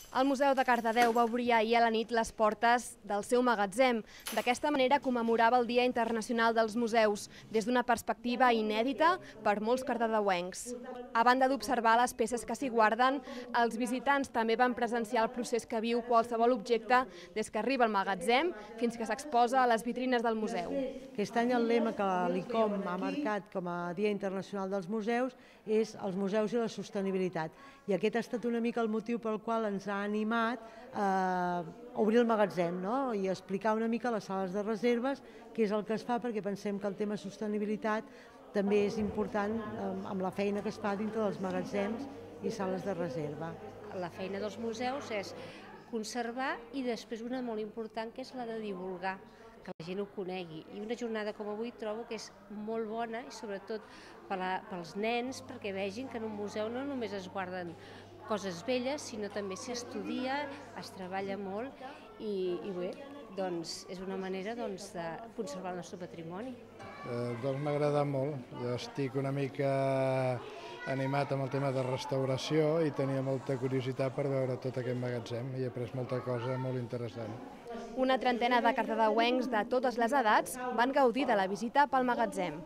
El Museu de Cardedeu va obrir ahir a la nit les portes del seu magatzem. D'aquesta manera commemorava el Dia Internacional dels Museus, des d'una perspectiva inèdita per molts cardedeuencs. A banda d'observar les peces que s'hi guarden, els visitants també van presenciar el procés que viu qualsevol objecte des que arriba al magatzem fins que s'exposa a les vitrines del museu. Aquest any el lema que l'ICOM ha marcat com a Dia Internacional dels Museus és els museus i la sostenibilitat. I aquest ha estat una mica el motiu pel qual ens ha animat a obrir el magatzem, no? I explicar una mica les sales de reserves, què és el que es fa, perquè pensem que el tema sostenibilitat també és important amb la feina que es fa dintre dels magatzems i sales de reserva. La feina dels museus és conservar i després una molt important que és la de divulgar, que la gent ho conegui. I una jornada com avui trobo que és molt bona i sobretot pels nens perquè vegin que en un museu no només es guarden coses velles, sinó també s'estudia, es treballa molt i bé, doncs és una manera de conservar el nostre patrimoni. Doncs m'ha agradat molt, jo estic una mica animat amb el tema de restauració i tenia molta curiositat per veure tot aquest magatzem i he après molta cosa molt interessant. Una trentena de cardedeuencs de totes les edats van gaudir de la visita pel magatzem.